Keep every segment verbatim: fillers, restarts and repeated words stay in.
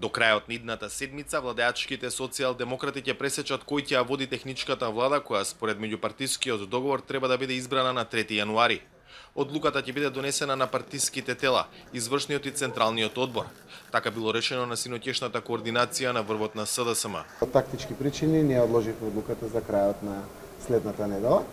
До крајот на идната седмица, владеачките социјалдемократи ќе пресечат кој ќе ја води техничката влада, која според меѓупартискиот договор треба да биде избрана на трети јануари. Одлуката ќе биде донесена на партиските тела, извршниот и централниот одбор. Така било решено на синоќешната координација на врвот на С Д С М. Од тактички причини ние одложивме одлуката за крајот на следната недела.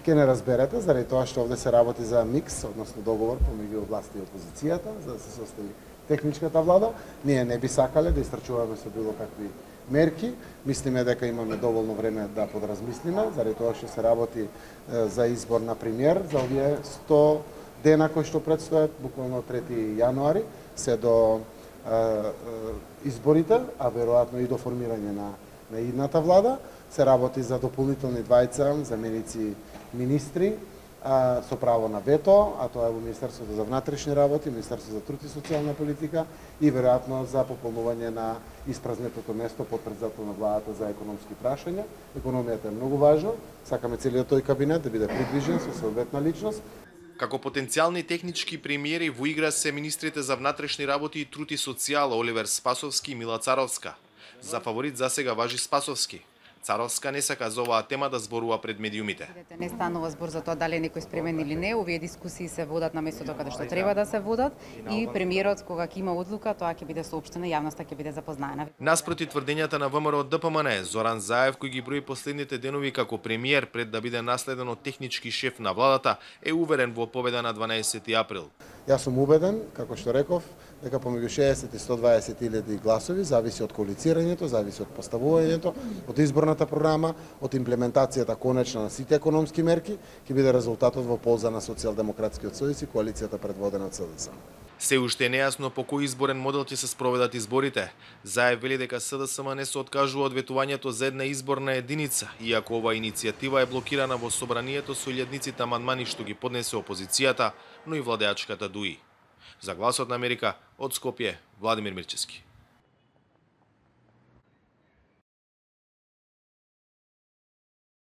Ке не разберете, заради тоа што овде се работи за микс, односно договор помеѓу власта и опозицијата, за да се состави техничката влада. Ние не би сакале да истрчуваме со било какви мерки. Мислиме дека имаме доволно време да подразмислиме, заради тоа што се работи за избор на премиер за овие сто дена кои што предстојат, буквално трети јануари, се до е, е, изборите, а веројатно и до формирање на, на идната влада. Се работи за дополнителни двајца заменици министри, а, со право на вето, а тоа е во Министерството за внатрешни работи, Министерството за труд и социјална политика и веројатно за пополнување на испразнетото место под председател на владата за економски прашања. Економијата е многу важна, сакаме целиот тој кабинет да биде придвижен со соодветна личност. Како потенцијални технички премиери во игра се министрите за внатрешни работи и труд и социјала Оливер Спасовски и Мила Царовска. За фаворит засега важи Спасовски. Царовска не сака за оваа тема да зборува пред медиумите. Не станува збор за тоа дали е некој спремен или не, овие дискусии се водат на местото каде што треба да се водат и премиерот кога ќе има одлука, тоа ќе биде соопштено, јавноста ќе биде запознаена. Наспроти тврдењата на ВМРО Д П М Н, Зоран Заев, кој ги брои последните денови како премиер пред да биде наследен од технички шеф на владата, е уверен во победа на дванаесети април. Јас сум убеден, како што реков, дека помеѓу шеесет и сто дваесет илјади гласови зависи од коалицирањето, зависи од поставувањето, од изборната програма, од имплементацијата конечна на сите економски мерки, ќе биде резултатот во полза на Социјалдемократскиот сојуз и коалицијата предводена од С Д С М. Се уште е нејасно по кој изборен модел ќе се спроведат изборите. Заев вели дека С Д С М не се откажува од ветувањето за една изборна единица, иако оваа иницијатива е блокирана во собранието со илјадниците амандмани што ги поднесе опозицијата, но и владеачката ДУИ. За Гласот на Америка, од Скопје, Владимир Мирчевски.